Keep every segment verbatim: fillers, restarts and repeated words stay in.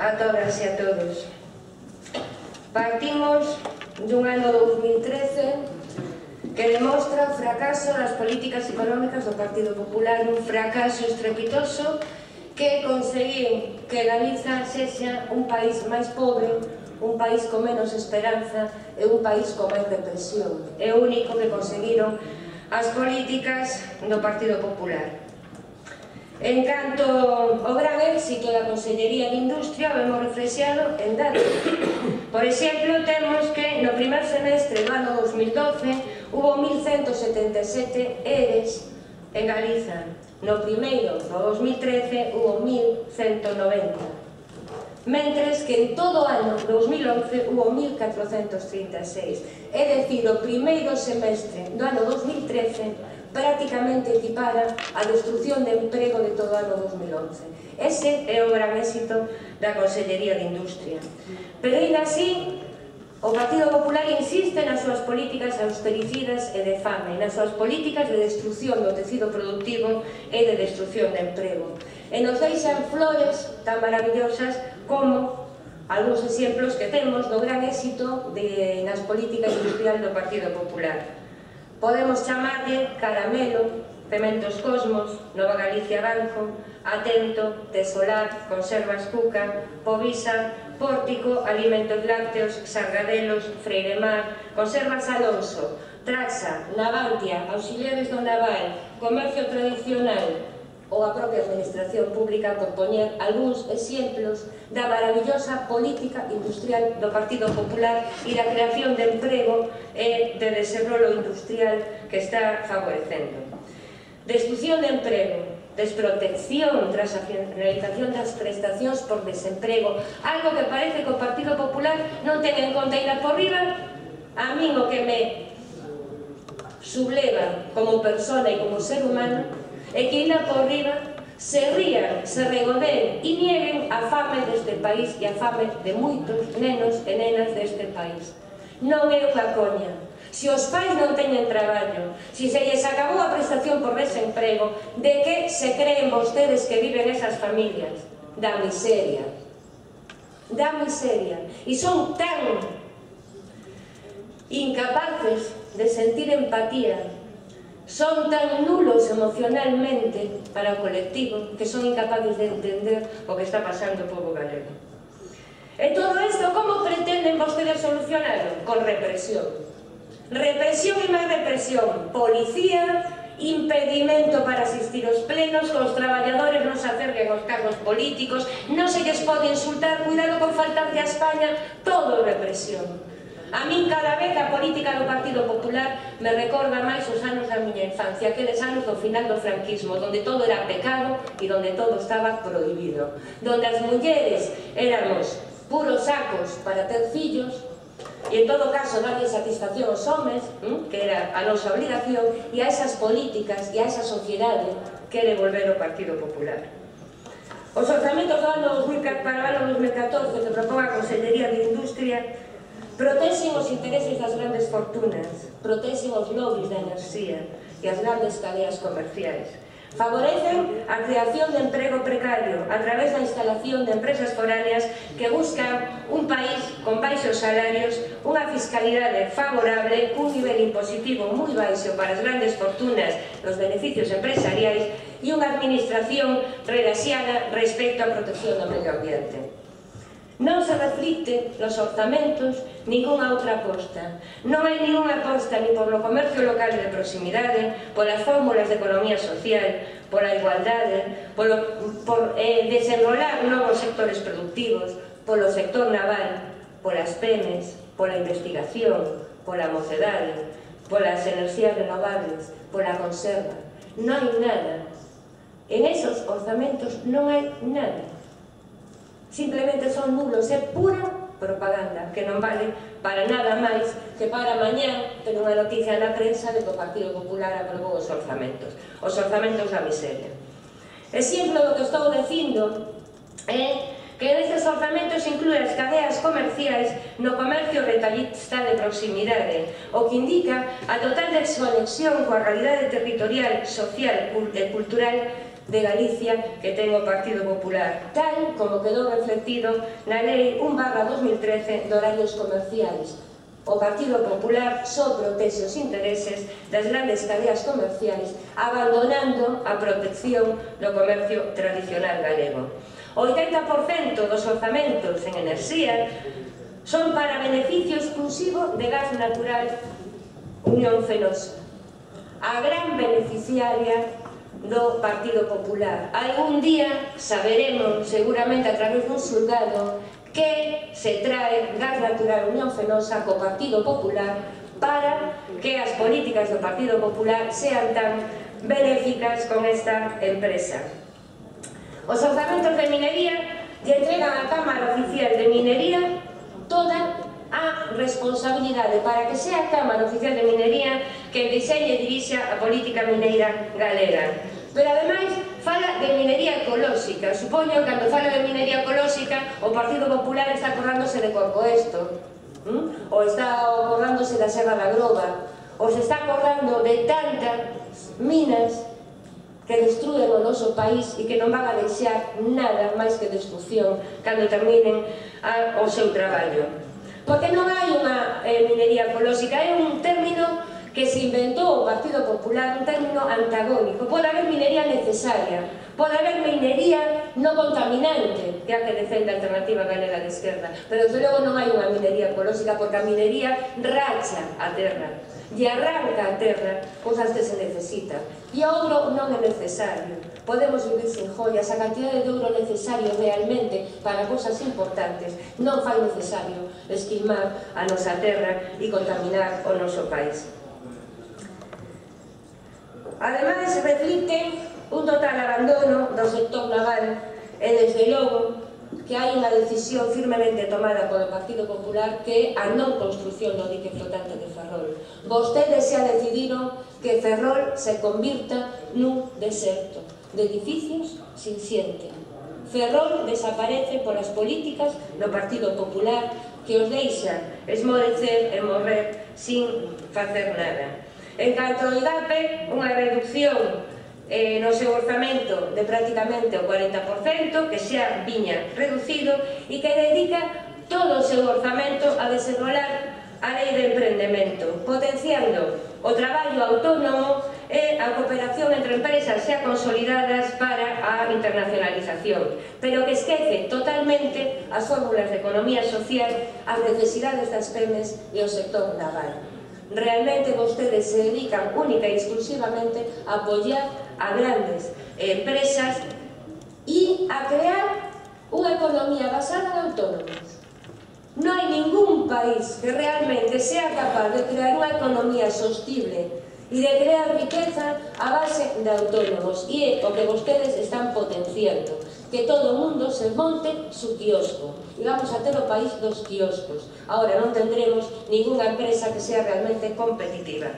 a todas e a todos. Partimos dun ano dous mil trece que demostra o fracaso das políticas económicas do Partido Popular, un fracaso estrepitoso que conseguiu que Galiza sexa un país máis pobre, un país con menos esperanza e un país con máis represión. É o único que conseguiron as políticas do Partido Popular. En canto ao gran éxito da Consellería de Industria, o hemos reflexionado en datos. Por exemplo, temos que no primer semestre do ano dous mil doce hubo mil ciento setenta e sete eres en Galiza. No primeiro, no dous mil trece, hubo mil ciento noventa. Mentres que en todo o ano dous mil once hubo mil catrocentos trinta e seis. É dicir, o primeiro semestre do ano dous mil trece prácticamente equipara a destrucción de emprego de todo o ano dous mil once. Ese é o gran éxito da Consellería de Industria. Pero, ainda así, o Partido Popular insiste nas súas políticas austericidas e de fame, nas súas políticas de destrucción do tecido productivo e de destrucción de emprego. E nos deixan flores tan maravillosas como algúns exemplos que temos do gran éxito de, nas políticas industriales do Partido Popular. Podemos chamarlle Caramelo, Cementos Cosmos, Nova Galicia Banco, Atento, Tesolar, Conservas Cuca, Povisa, Pórtico, Alimentos Lácteos, Sargadelos, Freiremar, Conservas Alonso, Traxa, Navantia, Auxiliares do Naval, Comercio Tradicional ou a propia Administración Pública, por poñer algúns exemplos da maravillosa política industrial do Partido Popular e da creación de emprego e de desenrolo industrial que está favorecendo. Destrucción de emprego, desprotección tras a finalización das prestacións por desemprego, algo que parece que o Partido Popular non ten en conta ir por riba. A min o que me subleva como persona e como ser humano é que ir por riba se rían, se regodeen e nieguen a fame deste país e a fame de moitos nenos e nenas deste país. Non é unha coña. Se os pais non teñen traballo, se se lles acabou a prestación por desemprego, de que se creen vostedes que viven esas familias? Da miseria. Da miseria. E son tan incapaces de sentir empatía, son tan nulos emocionalmente para o colectivo que son incapaces de entender o que está pasando o povo galego. E todo isto, como pretenden vostedes solucionarlo? Con represión. Represión e máis represión. Policía, impedimento para asistir aos plenos, que os traballadores non se acerquen aos cargos políticos, non se lles pode insultar, cuidado con faltarlle a España, todo represión. A min cada vez a política do Partido Popular me recorda máis os anos da miña infancia, aqueles anos do final do franquismo, donde todo era pecado e donde todo estaba prohibido, donde as mulleres éramos puros sacos para ter fillos e en todo caso darlle satisfacción aos homes, que era a nosa obligación, e a esas políticas e a esa sociedade quere volver o Partido Popular. Os orzamentos do ano dos mil catorce para o ano dos mil catorce que propón a Consellería de Industria protexen os intereses das grandes fortunas, protexen os lobbies da enerxía e as grandes cadeas comerciais. Favorecen a creación de emprego precario a través da instalación de empresas foráneas que buscan un país con baixos salarios, unha fiscalidade favorable, un nivel impositivo moi baixo para as grandes fortunas dos beneficios empresariais e unha administración relaxada respecto á protección do medio ambiente. Non se reflicte nos orzamentos ningunha outra aposta. Non hai ningunha aposta ni por lo comercio local de proximidade, polas fórmulas de economía social, pola igualdade, polo, por eh, desenrolar novos sectores productivos, polo sector naval, polas pemes, pola investigación, pola mocedade, polas enerxías renovables, pola conserva. Non hai nada. En esos orzamentos non hai nada. Simplemente son nulos, é pura propaganda, que non vale para nada máis que para mañá ter unha noticia na prensa de que o Partido Popular aprobou os orzamentos, os orzamentos da miseria. Exemplo do que estou dicindo é que nestes orzamentos inclúe as cadeas comerciais no comercio retallista de proximidade, o que indica a total desconexión coa realidade territorial, social e cultural de Galicia que ten o Partido Popular, tal como quedou reflectido na Lei un barra dos mil trece de horarios comerciais. O Partido Popular só protege os intereses das grandes cadeas comerciais, abandonando a protección do comercio tradicional galego. O oitenta por cento dos orzamentos en enerxía son para beneficio exclusivo de gas natural Unión Fenosa, a gran beneficiaria do Partido Popular. Algún día saberemos, seguramente a través dun xulgado, que se trae gas natural Unión Fenosa co Partido Popular para que as políticas do Partido Popular sean tan benéficas con esta empresa. Os orzamentos de minería lle entregan á Cámara Oficial de Minería toda a responsabilidade para que sea a Cámara Oficial de Minería que diseñe e dirixa a política mineira galega. Pero ademais fala de minería ecolóxica. Supoño que cando fala de minería ecolóxica o Partido Popular está acordándose de Corcoesto, ¿Mm? ou está acordándose da Serra da Groba, ou se está acordando de tantas minas que destruen o noso país e que non van a deixar nada máis que destrucción cando terminen a, o seu traballo. Porque non hai unha eh, minería ecolóxica, é un término que se inventou o Partido Popular, un término antagónico. Pode haber minería necesaria, pode haber minería non contaminante, que é a que defende a Alternativa Galega de Esquerda, pero desde logo non hai unha minería ecolóxica, porque a minería racha a terra e arranca a terra cousas que se necesitan, e o ouro non é necesario. Podemos vivir sin joias, a cantidade de ouro necesario realmente para cousas importantes non fai necesario esquilmar a nosa terra e contaminar o noso país. Ademais, reflicte un total abandono do sector naval e, desde logo, que hai unha decisión firmemente tomada polo Partido Popular que é a non construción do dique flotante de Ferrol. Vostedes xa decidiron que Ferrol se convirta nun deserto de edificios sin xente. Ferrol desaparece polas políticas do Partido Popular que os deixa esmorecer e morrer sin facer nada. En canto ao I D A P E, unha reducción eh, no seu orzamento de prácticamente o cuarenta por cento, que xa viña reducido, e que dedica todo o seu orzamento a desenrolar a lei de emprendemento, potenciando o traballo autónomo e a cooperación entre empresas xa consolidadas para a internacionalización, pero que esquece totalmente as fórmulas de economía social, as necesidades das pemes e o sector naval. Realmente vostedes se dedican única e exclusivamente a apoiar a grandes empresas e a crear unha economía basada en autónomos. Non hai ningún país que realmente sea capaz de crear unha economía sostible e de crear riqueza a base de autónomos, e é o que vostedes están potenciando, que todo o mundo se monte su quiosco, e vamos a ter o país dos quioscos. Ahora non tendremos ninguna empresa que sea realmente competitiva.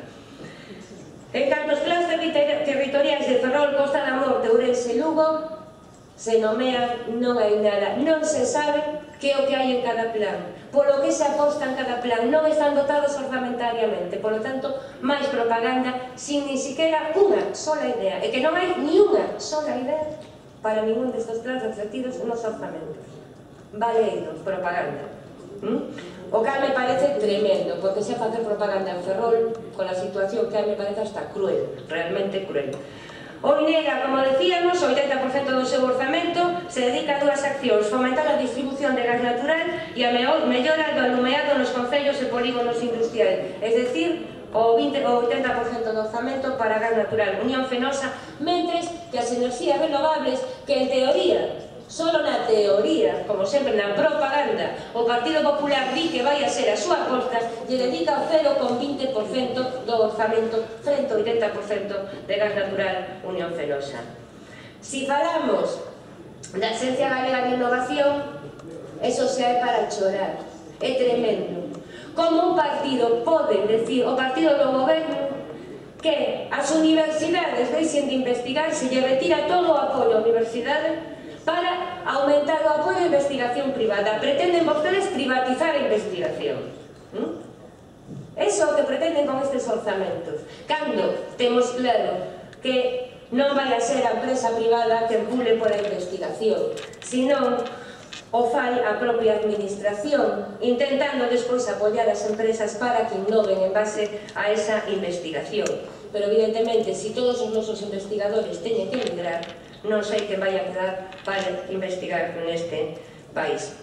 En canto aos plans territoriais de Ferrol, Costa da Morte, Ourense e Lugo, se nomean, non hai nada, non se sabe que é o que hai en cada plan, polo que se aposta en cada plan, non están dotados orzamentariamente, polo tanto, máis propaganda sin ni siquiera unha sola idea, e que non hai ni unha sola idea para ningún destes plans reflectidos nos orzamentos. Valeiros, propaganda. ¿Mm? O que me parece tremendo, porque se facer propaganda en Ferrol, con a situación que me parece hasta cruel, realmente cruel. O Minera, como decíamos, o oitenta por cento do seu orzamento se dedica a dúas accións: fomentar a distribución de gas natural e a mellora do alumeado nos concellos e polígonos industriais, es decir, o oitenta por cento do orzamento para gas natural Unión Fenosa, mentres que as enerxías renovables, que en teoría, solo na teoría, como sempre na propaganda, o Partido Popular di que vai a ser a súa aposta, lle dedica o cero coma vinte por cento do orzamento frente ao oitenta por cento de gas natural Unión Fenosa. Si falamos da Axencia Galega de Innovación, eso xa é para chorar, é tremendo. Como un partido pode decir, o partido do goberno, que as universidades deixen de investigar, se lle retira todo o apoio á universidade para aumentar o apoio á investigación privada. Pretenden vostedes privatizar a investigación. ¿Mm? Eso é o que pretenden con estes orzamentos. Cando temos claro que non vai a ser a empresa privada que empule pola investigación, senón o fai a propia administración, intentando despois apoiar as empresas para que innoven en base a esa investigación. Pero evidentemente, se todos os nosos investigadores teñen que emigrar, non sei que vai a quedar para investigar neste país.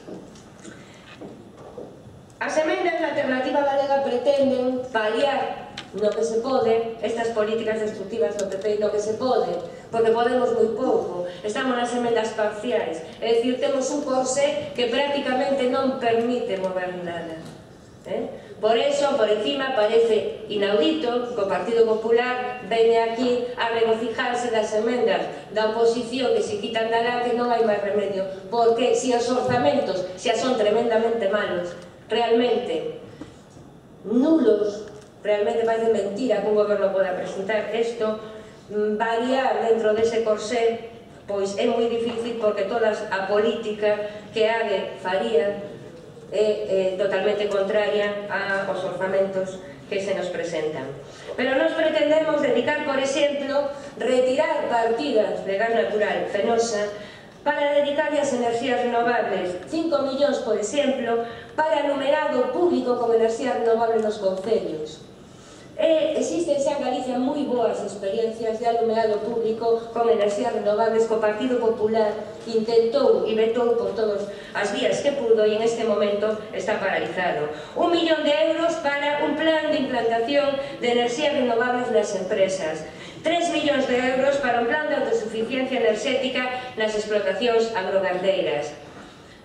As emendas da Alternativa Galega pretenden paliar no que se pode estas políticas destructivas do P P, no que se pode, porque podemos moi pouco. Estamos nas emendas parciais, é dicir, temos un corsé que prácticamente non permite mover nada. Eh? Por eso, por encima, parece inaudito que o Partido Popular veña aquí a regocijarse das emendas da oposición que se quitan da lá que non hai máis remedio, porque se os orzamentos xa son tremendamente malos, realmente nulos, realmente parece mentira que un goberno poda presentar isto, variar dentro dese corsé, pois é moi difícil porque toda a política que Ade faría é totalmente contraria aos orzamentos que se nos presentan. Pero nós pretendemos dedicar, por exemplo, retirar partidas de gas natural Fenosa para dedicar as enerxías renovables, cinco millóns, por exemplo, para anumerado público con enerxía renovable nos concellos. E existen xa en Galicia moi boas experiencias de alumeado público con enerxías renovables que o Partido Popular intentou e vetou por todas as vías que pudo e en este momento está paralizado. Un millón de euros para un plan de implantación de enerxías renovables nas empresas. tres millóns de euros para un plan de autosuficiencia enerxética nas explotacións agrogandeiras.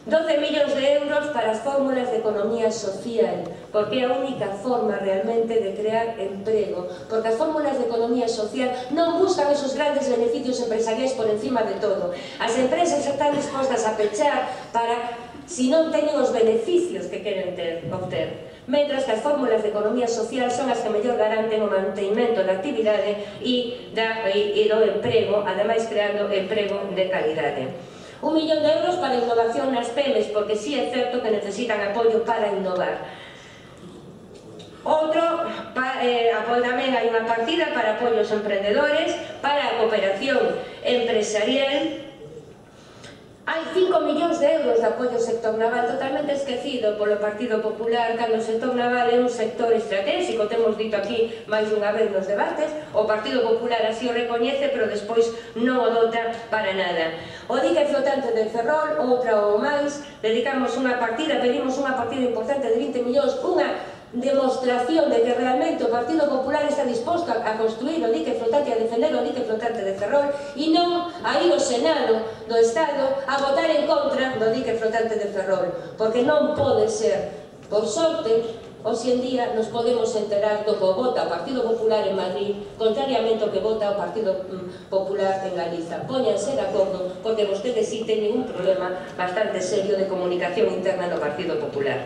doce millóns de euros para as fórmulas de economía social, porque é a única forma realmente de crear emprego, porque as fórmulas de economía social non buscan esos grandes beneficios empresariais por encima de todo. As empresas están dispostas a pechar para, si non teñen os beneficios que queren ter, obter. Mentras que as fórmulas de economía social son as que mellor garanten o mantenimento da actividade e, da, e, e do emprego, ademais creando emprego de calidade. Un millón de euros para innovación nas pemes, porque sí é certo que necesitan apoio para innovar. Outro, pa, eh, tamén hai unha partida para apoio aos emprendedores, para a cooperación empresarial. Hai cinco millóns de euros de apoio ao sector naval, totalmente esquecido polo Partido Popular, cando o sector naval é un sector estratégico, temos dito aquí máis unha vez nos debates, o Partido Popular así o recoñece, pero despois non o dota para nada. O dique flotante de Ferrol, outra ou máis, dedicamos unha partida, pedimos unha partida importante de vinte millóns, unha demostración de que realmente o Partido Popular está disposto a construir o dique flotante, a defender o dique flotante de Ferrol e non a ir ao Senado do Estado a votar en contra do dique flotante de Ferrol, porque non pode ser. Por sorte, hoxe en día nos podemos enterar do que vota o Partido Popular en Madrid contrariamente ao que vota o Partido Popular en Galiza. Póñanse de acordo, porque vostedes sí teñen un problema bastante serio de comunicación interna no Partido Popular.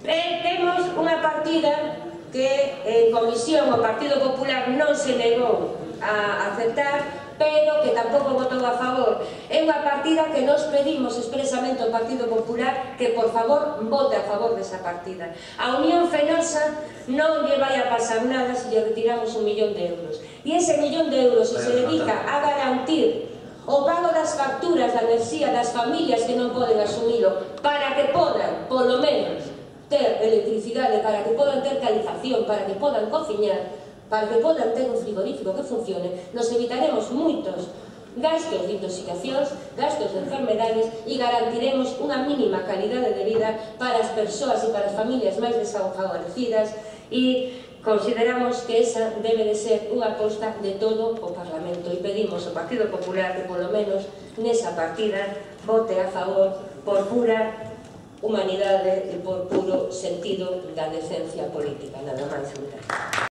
E temos unha partida que en comisión o Partido Popular non se negou a aceptar, pero que tampouco votou a favor. É unha partida que nos pedimos expresamente ao Partido Popular que, por favor, vote a favor desa partida. A Unión Fenosa non lle vai a pasar nada se lle retiramos un millón de euros. E ese millón de euros, se se dedica a garantir o pago das facturas da enerxía das familias que non poden asumilo, para que podan, polo menos, ter electricidade, para que podan ter calefacción, para que podan cociñar, para que podan ter un frigorífico que funcione, nos evitaremos moitos gastos de intoxicacións, gastos de enfermedades e garantiremos unha mínima calidade de vida para as persoas e para as familias máis desfavorecidas e consideramos que esa debe de ser unha aposta de todo o Parlamento e pedimos ao Partido Popular que polo menos nesa partida vote a favor por pura humanidade e por puro sentido da decencia política, nada máis.